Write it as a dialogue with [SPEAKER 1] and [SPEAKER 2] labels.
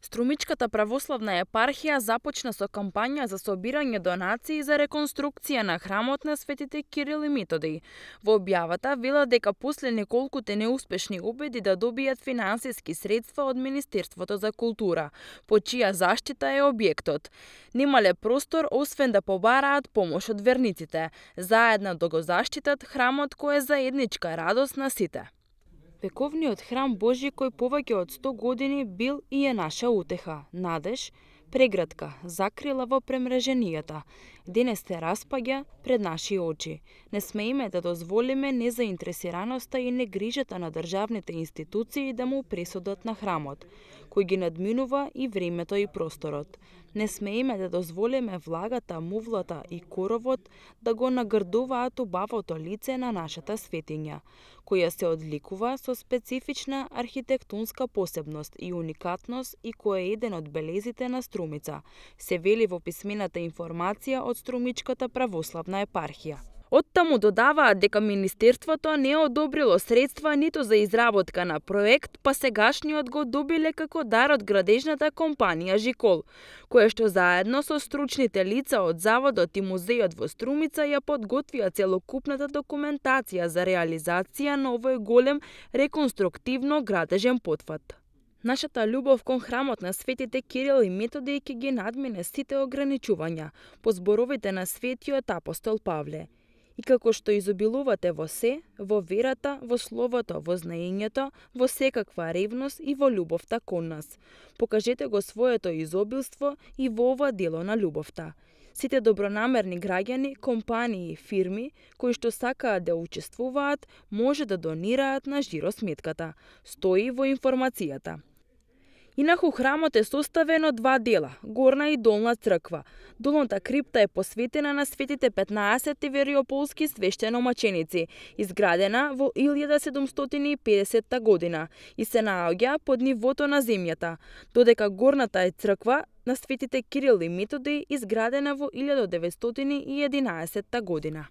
[SPEAKER 1] Струмичката православна епархија започна со кампања за собирање донации за реконструкција на храмот на светите Кирил и Методиј. Во објавата велат дека после неколкуте неуспешни обиди да добијат финансиски средства од Министерството за култура, по чија заштита е објектот, немале простор освен да побараат помош од верниците, заедно да го заштитат храмот кој е заедничка радост на сите. Вековниот храм Божи кој повеќе од 100 години бил и е наша утеха, надеж, прегратка, закрила во премреженијата, денес се распаѓа пред наши очи. Не смееме да дозволиме незаинтересираноста и негрижата на државните институции да му пресудат на храмот, кој ги надминува и времето и просторот. Не смееме да дозволиме влагата, мувлата и коровот да го нагрдуваат убавото лице на нашата светиња, која се одликува со специфична архитектонска посебност и уникатност и кој е еден од белезите на Струмица, се вели во писмената информација од Струмичката православна епархија. Оттаму додаваат дека Министерството не одобрило средства ниту за изработка на проект, па сегашниот го добиле како дар од градежната компанија Жикол, која што заедно со стручните лица од Заводот и музејот во Струмица ја подготвија целокупната документација за реализација на овој голем реконструктивно градежен потфат. Нашата љубов кон храмот на светите Кирил и Методиј ќе ги надмине сите ограничувања, по зборовите на светиот апостол Павле. И како што изобилувате во се, во верата, во словото, во знаењето, во секаква ревност и во љубовта кон нас. Покажете го своето изобилство и во ова дело на љубовта. Сите добронамерни граѓани, компании и фирми кои што сакаат да учествуваат, може да донираат на жиросметката. Стои во информацијата. Инаку храмот е составен од два дела, горна и долна црква. Долната крипта е посветена на светите 15 тивериополски свештеномаченици, изградена во 1750 година и се наоѓа под нивото на земјата, додека горната е црква на светите Кирил и Методиј изградена во 1911 година.